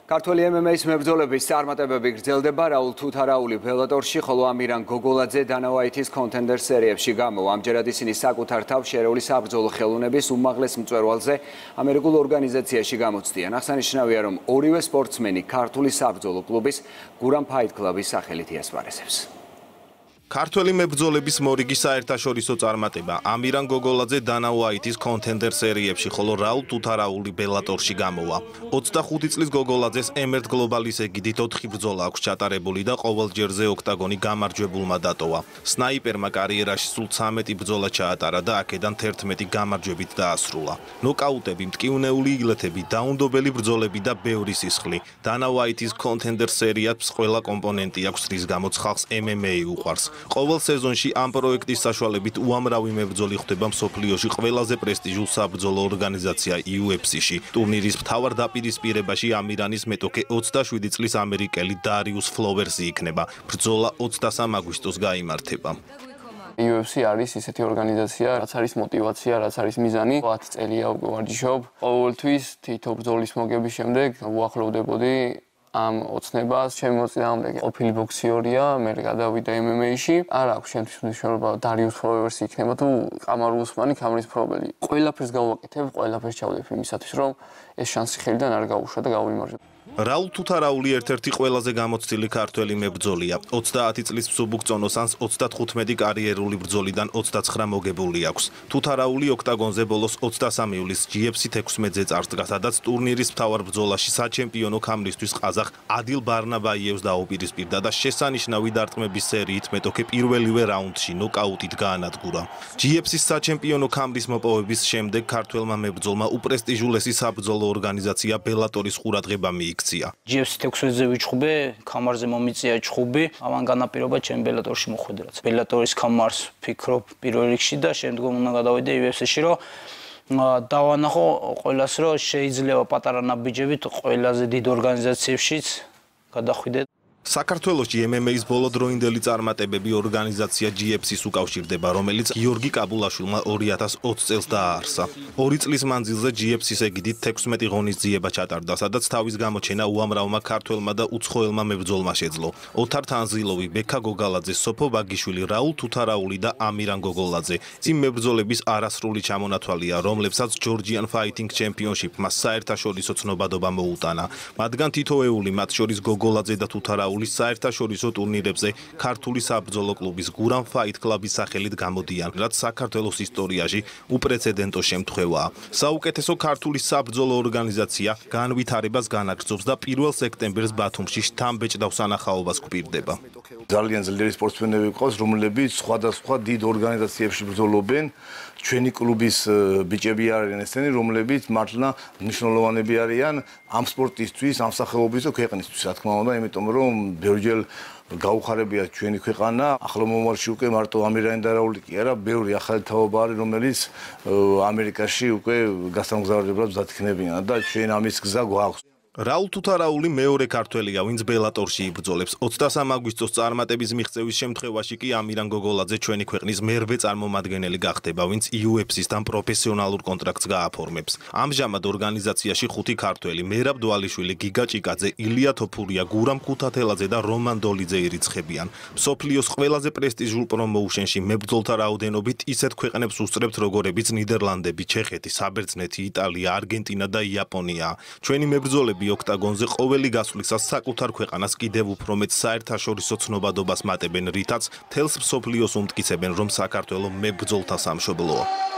ქართველი MMA-ის მებრძოლების წარმატებები გრძელდება რაულ თუთარაული ბელატორში, ხოლო ამირან გოგოლაძე დანა ვაითის კონტენდერ სერიებში გამოვა. ამჯერად ისინი საკუთარ თავს შერეული საბრძოლო ხელოვნების უმაღლეს მწვერვალზე ამერიკულ ორგანიზაციაში გამოცდიან. აღსანიშნავია, რომ ორივე სპორტსმენი ქართული საბრძოლო კლუბის გურამ ფაით კლუბის სახელით იასპარეზებს. ქართველი მებრძოლების მორიგი საერთაშორისო წარმატება ამირან გოგოლაძე დანა ვაითის კონტენდერ სერიებში, ხოლო რაულ თუთარაული ბელატორში გამოვა. 25 წლის გოგოლაძეს ემერტ გლობალის ეგიდით 4 ბრძოლა აქვს ჩატარებული და ყოველ ჯერზე ოქტაგონი გამარჯვებულმა დატოვა. სნაიპერმა კარიერაში სულ 13 ბრძოლა ჩაატარა და აქედან 11 გამარჯვებით დაასრულა. ნოკაუტები, მტკივნეული იგლეთები, დაუნდობელი ბრძოლები და ბევრი სისხლი. დანა ვაითის კონტენდერ სერიას ყველა კომპონენტი აქვს, რის გამოც ხალხს MMA უყვარს. ყოველ სეზონში ამ პროექტის საშუალებით უამრავი მებრძოლი ხვდება მსოფლიოში ყველაზე პრესტიჟულ საბრძოლო ორგანიზაცია UFC-ში. ტურნირის მთავარ დაპირისპირებაში ამირანის მეტოქე 27 წლის ამერიკელი დარიუს ფლოვერსი იქნება. ბრძოლა 23 აგვისტოს გაიმართება. UFC არის ისეთი ორგანიზაცია, რაც არის мотиваცია, რაც არის მიზანი. 10 წელია უკვე ვარჯიშობ. ყოველთვის თითო ბრძოლის მოგების შემდეგ უახლოვდებოდი ამ ოცნებას. ჩემი მოწინააღმდეგე ყოფილი ბოქსიორია, მე გადავიდა MMA-ში. არ აქვს შემთხვევით მნიშვნელობა დარიუს ფლოვერსი იქნება თუ კამარ უსმანი, კამრის მფლობელი. ყველაფერს გავაკეთებ, ყველაფერს ჩავდებ იმისათვის, რომ ეს შანსი ხელიდან არ გაუშვა და გავიმარჯვებ. რაულ თუთარაული ერთ-ერთი ყველაზე გამოცდილი ქართველი მებრძოლია. 30 წლის მსუბუქწონოსანს 35 კარიერული ბრძოლიდან 29 მოგებული აქვს. თუთარაული ოქტაგონზე ბოლოს 23 ივლისს GFC 16-ზე წარსდგა, სადაც ტურნირის მთავარ ბრძოლაში საჩემპიონო ქამრისთვის ყაზახ ადილ ბარნაბაიევს დაუპირისპირდა და შესანიშნავი დარტყმების სერიით მეტოქე პირველივე რაუნდში ნოკაუტით გაანადგურა. GFC-ის საჩემპიონო ქამრის მოპოვების შემდეგ ქართველმა მებრძოლმა უპრესტიჟულესი საბრძოლო ორგანიზაცია ბელატორის ყურადღება მიიქცა. GFC 16-ზე ვიჩხუბე, ქამარზე მომიწია ჩხუბი, ამან განაპირობა ჩემ ბელატორში მოხვედრა. ბელატორის ქამარს ფიქრობ პირველ რიგში და შემდგომ უნდა გადავიდე UFC-ში, რომ დავანახო ყველას, რომ შეიძლება პატარა ნაბიჯებით ყველაზე დიდ ორგანიზაციებშიც გადახვიდე. საქართველოში MMA-ის ბოლოდროინდელი წარმატებები ორგანიზაცია GFC-ს უკავშირდება, რომელიც გიორგი კაბულაშვილმა 2020 წელს დააარსა. 2 წლის მანძილზე GFC-ს ეგიდით 16 ღონისძიება ჩატარდა, სადაც თავის გამოჩენა უამრავმა ქართველმა და უცხოელმა მებრძოლმა შეძლო. ოთარ თანზილოვი, ბექა გოგალაძე, სოფო ბაგიშვილი, რაულ თუთარაული და ამირან გოგოლაძე. იმ მებრძოლების არასრული ჩამონათვალია, რომლებსაც Georgian Fighting Championship-მა საერთაშორისო ცნობადობა მოუტანა. მათგან თითოეული, მათ შორის გოგოლაძე და თუთარაული საერთაშორისო ტურნირებზე ქართული საბრძოლო კლუბის გურამ ფაით კლუბის სახელით გამოდიან, რაც საქართველოს ისტორიაში უპრეცედენტო შემთხვევაა. საუკეთესო ქართული საბრძოლო ორგანიზაცია განვითარებას განაგრძობს და 1 სექტემბერს ბათუმში შთამბეჭდავ სანახაობას გვპირდება. ძალიან ძლიერი სპორტსმენები გვყავს, რომლებიც სხვადასხვა დიდ ორგანიზაციებში ბრძოლობენ. ჩვენი კლუბის ბიჭები არიან ესენი, რომლებიც მართლა მნიშვნელოვანები არიან ამ სპორტისთვის, ამ სახელობის და ქვეყნისთვის, რა თქმა უნდა, იმიტომ რომ ბევრჯერ გაუხარებია ჩვენი ქვეყანა. ახლო მომავალში უკვე მარტო ამირანი და რაული კი არა, ბევრი ახალი თაობა არის, რომელიც ამერიკაში უკვე გასამგზავრებლად მზადიქნებიან და ჩვენ ამის გზა გვაქვს. რაულ თუთარაული მეორე ქართველია, ვინც ბელატორში იბრძოლებს. 23 აგვისტოს წარმატების მიღწევის შემთხვევაში კი ამირან გოგოლაძე ჩვენი ქვეყნის მერვე წარმომადგენელი გახდება, ვინც UFC-სთან პროფესიონალურ კონტრაქტს გააფორმებს. ამჟამად ორგანიზაციაში 5 ქართველი: მერაბ დვალიშვილი, გიგა ჭიკაძე, ილია თოფურია, გურამ ქუთათელაძე და რომან დოლიძე ირიცხებიან. მსოფლიოს ყველაზე პრესტიჟულ პრომოუშენში მებრძოლთა რაოდენობით ისეთ ქვეყნებს უსწრებთ, როგორებიც ნიდერლანდები, ჩეხეთი, საბერძნეთი, იტალია, არგენტინა და იაპონია. ჩვენი მებრძოლები ოქტაგონზე ყოველი გასვლისას საკუთარ ქვეყანას კიდევ უფრო მეტ საერთაშორისო ცნობადობას მატებენ, რითაც თელს მსოფლიოს უმტკიცებენ, რომ საქართველო მებრძოლთა სამშობლოა.